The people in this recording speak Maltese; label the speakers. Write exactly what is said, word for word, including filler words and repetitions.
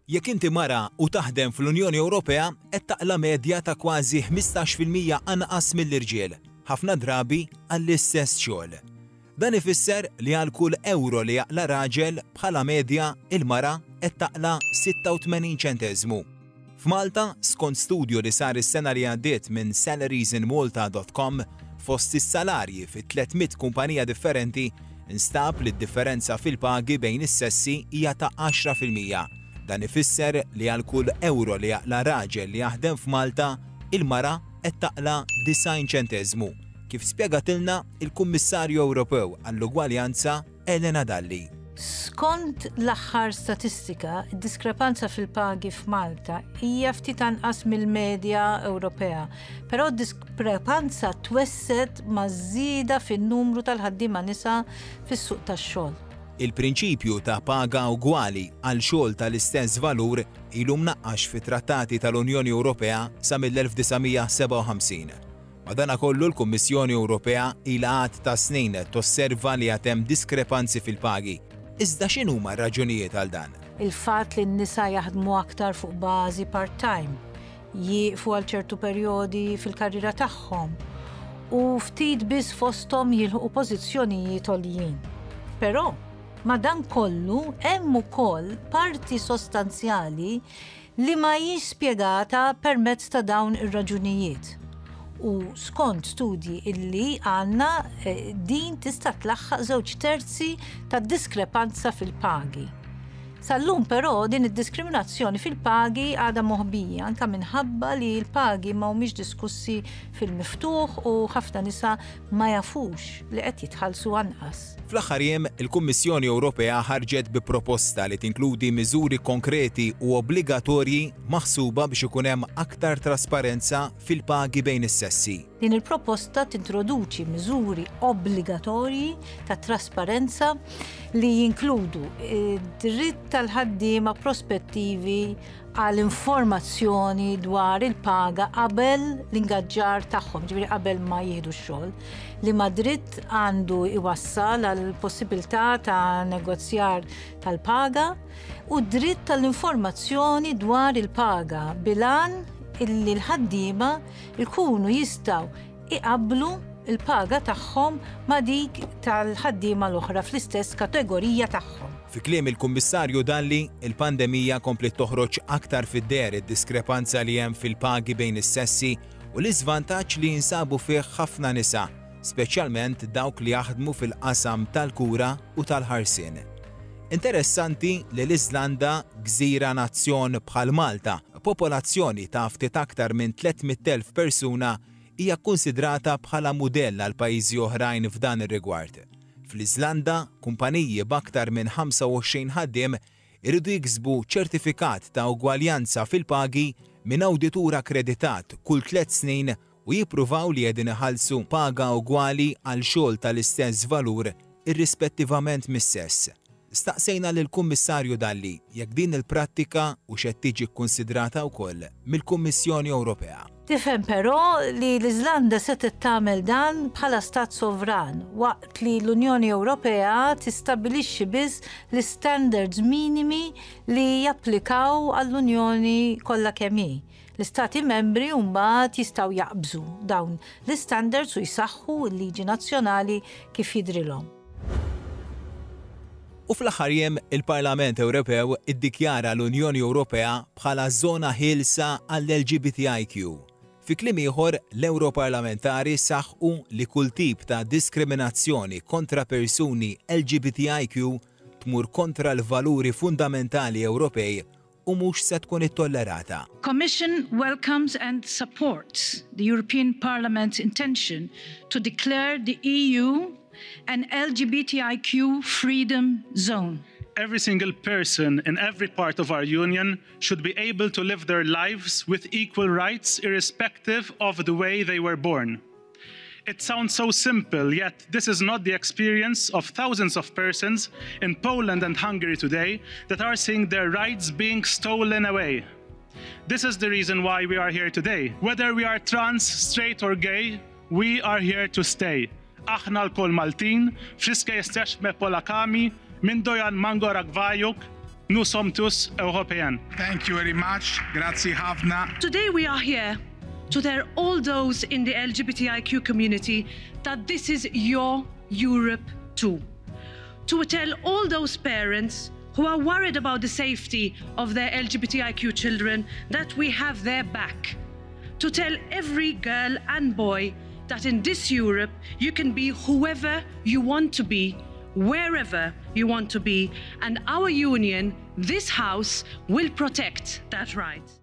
Speaker 1: Jekk inti mara u taħdem fl-Unjoni Ewropea, qed taqla medja ta' kważi ħmistax fil-mija anqas mill-irġiel, ħafna drabi għall-istess xogħol. Dan ifisser li għal kull euro li jaqla raġel, bħala medja il-mara qed taqla sitta u tmenin ċenteżmu. F'Malta, skont studju li sar is-sena li għaddiet minn salariesinmalta punt com fost is-salarji fi tliet mitt kumpanija differenti, instab li d-differenza fil-pagi bejn is-sessi hija ta' għaxra fil-mija. Dan ifisser li għal kull euro li jaqla raġel li jaħdem f'Malta, il-mara qed taqla disgħin ċenteżmu. Kif spjegatilna il-Kummissarju Ewropew għall-Ugwaljanza Elena Dalli.
Speaker 2: Skont l-aħħar statistika, id-diskrepanza fil-pagi f'Malta hija ftit anqas mill-medja Ewropea, però d-diskrepanza twessgħet maż-żieda fin-numru tal-ħaddiema nisa fis-suq tax-xogħol.
Speaker 1: Il-prinċipju ta' paga ugwali għal xogħol tal-istess valur ilu mnaqqax fi trattati tal-Unjoni Ewropea sa mill-elf disa' mija sebgħa u ħamsin. Madanakollu, l-Kummissjoni Ewropea ilha għadd ta' snin tosserva li għad hemm diskrepanzi fil-pagi. Iżda x'inhuma r-raġunijiet għal dan?
Speaker 2: Il-fatt li n-nisa jaħdmu aktar fuq bażi part-time, jieqfu għal ċertu perjodi fil-karriera tagħhom u ftit biss fosthom jilħqu pożizzjonijiet għoljin. Però ma dan kollu hemm ukoll parti sostanzjali li ma hijiex spjegata permezz ta' dawn ir-raġunijiet. U skont studji illi għandna, eh, din tista' tlaħħaq żewġ terzi ta' diskrepanza fil-pagi. Sal-lum però din id-diskriminazzjoni fil-pagi għadha moħbija, anka minħabba li l-pagi ma humiex diskussi fil-miftuħ u ħafna nisa ma jafux li qed jitħallsu anqas.
Speaker 1: Fl-aħħar jiem, il-Kummissjoni Ewropea ħarġet bi proposta li tinkludi miżuri konkreti u obbligatorji maħsuba biex ikun hemm aktar trasparenza fil-pagi bejn is-sessi.
Speaker 2: Din il-proposta tintroduċi miżuri obbligatorji ta' trasparenza li jinkludu dritt tal-ħaddiema prospettivi għal informazzjoni dwar il-paga qabel l-ingaġġar tagħhom, ġifieri qabel ma jieħdu x-xogħol, li ma dritt għandu iwassal għal possibilità ta' negozjar tal-paga, u dritt tal-informazzjoni dwar il-paga bil-għan illi l-ħaddiema jkunu jistgħu iqablu il-paga tagħhom ma' dik tal-ħaddiema l-oħra fl-istess kategorija tagħhom.
Speaker 1: Fi kliem il-Kummissarju Dalli, il-pandemija komplet toħroġ aktar fid-deher id-diskrepanza li hemm fil-pagi bejn is-sessi u l-iżvantaġġ li jinsabu fih ħafna nisa, speċjalment dawk li jaħdmu fil-qasam tal-kura u tal-ħarsien. Interessanti li l-Iżlanda, gżira nazzjon bħal Malta, popolazzjoni ta' ftit aktar minn tliet mitt elf persuna, hija konsidrata bħala mudell għal pajjiżi oħrajn f'dan ir-rigward. Fl-Iżlanda, kumpaniji b'aktar minn ħamsa u għoxrin ħaddiem iridu jiksbu ċertifikat ta' ugwaljanza fil-pagi minn awditur akkreditat kull tliet snin u jippruvaw li qegħdin iħallsu paga ugwali għal xogħol tal-istess valur irrispettivament mis-sess. Staqsejna lill-Kummissarju Dalli jekk din il-prattika hux qed tiġi kkunsidrata wkoll mill-Kummissjoni Ewropea.
Speaker 2: Tifhem però li l-Iżlanda setgħet tagħmel dan bħala stat sovran, waqt li l-Unjoni Ewropea tistabbilixxi biss l-standards minimi li japplikaw għall-Unjoni kollha kemm hi. L-istati membri mbagħad jistgħu jaqbżu dawn l-standards u jsaħħu l-liġi nazzjonali kif jidrilhom.
Speaker 1: U fl-aħħar jiem, il-Parlament Ewropew iddikjara l-Unjoni Ewropea bħala żona ħielsa għall-L G B T I Q. Fi kliem ieħor, l-Europarlamentari saħqu li kull tip ta' diskriminazzjoni kontra persuni L G B T I Q tmur kontra l-valuri fundamentali Ewropej u mhux se tkun ittollerata.
Speaker 2: Commission welcomes and supports the European Parliament's intention to declare the E U an L G B T I Q freedom zone.
Speaker 3: Every single person in every part of our union should be able to live their lives with equal rights, irrespective of the way they were born. It sounds so simple, yet this is not the experience of thousands of persons in Poland and Hungary today that are seeing their rights being stolen away. This is the reason why we are here today. Whether we are trans, straight or gay, we are here to stay. Aħna lkoll Maltin, wszystkie jesteśmy Polakami, Mindojan Mangorak Vajuk. Nous sommes tous Européens.
Speaker 4: Thank you very much. Grazzi ħafna.
Speaker 5: Today we are here to tell all those in the L G B T I Q community that this is your Europe too. To tell all those parents who are worried about the safety of their L G B T I Q children that we have their back. To tell every girl and boy that in this Europe you can be whoever you want to be, wherever you want to be, and our union, this house, will protect that right.